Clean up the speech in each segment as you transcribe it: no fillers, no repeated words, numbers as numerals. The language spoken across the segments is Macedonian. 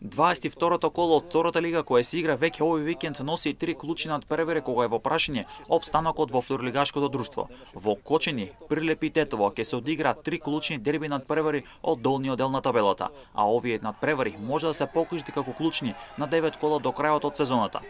22-то коло од втората лига која се игра веќе овој викенд носи 3 клучни надпревари кога е во прашање опстанокот во второлигашкото друштво. Во Кочени, Прилеп и Тетово ќе се одигра 3 клучни дерби надпревари од долниот дел на табелата, а овие надпревари може да се покажат како клучни на 9 кола до крајот од сезоната.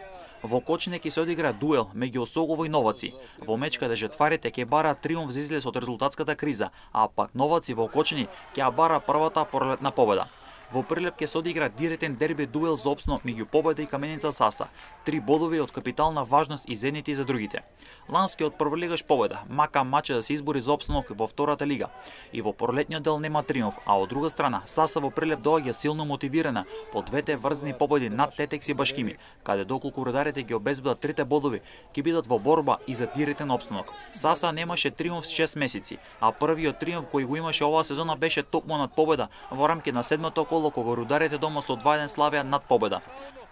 Во Кочине ќе се одигра дуел меѓу Осогово и Новаци. Во меч каде жетварите ќе бараат триумф за излез од резултатската криза, а пак Новаци во Кочини ќе ја бара првата пролетна победа. Во Прилеп ќе се одигра директен дерби дуел за опстанок меѓу Победа и Каменица Саса. 3 бодови од капитална важност и за едните и за другите. Ланскиот прволигаш Победа мака маче да се избори за опстанок во втората лига. И во пролетниот дел нема триумф, а од друга страна Саса во Прилеп доаѓа силно мотивирана по двете врзни победи над Тетекс и Башкими, каде доколку рударите ги обезбедат трите бодови, ќе бидат во борба и за директен опстанок. Саса немаше триумф 6 месеци, а првиот триумф кој го имаше оваа сезона беше токму над Победа во рамки на 7-то коло кога рударите дома со 2-1 славија над Победа.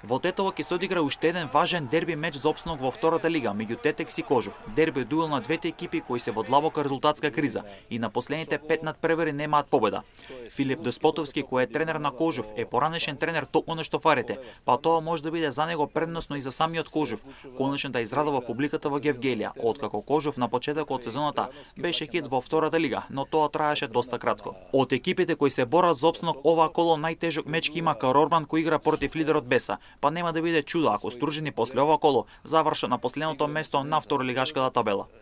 Во Тетово ќе се одигра уште еден важен дерби меч за опстанок во втората лига меѓу Тетекс и Кожув. Дерби дуел на двете екипи кои се во длабока резултатска криза и на последните 5 надпревари немаат победа. Филип Деспотовски, кој е тренер на Кожув, е поранешен тренер токму на штофарите, па тоа може да биде за него предносно и за самиот Кожув, конечно да израдува публиката во Гевгелија, откако Кожув на почетокот од сезоната беше хит во втората лига, но тоа траеше доста кратко. Од екипите кои се борат за опстанок оваа коло најтежок меч ќе има Карорбан кој игра против лидерот Беса, па нема да биде чудо ако Стружени после ова коло завршат на последното место на второлигашката табела.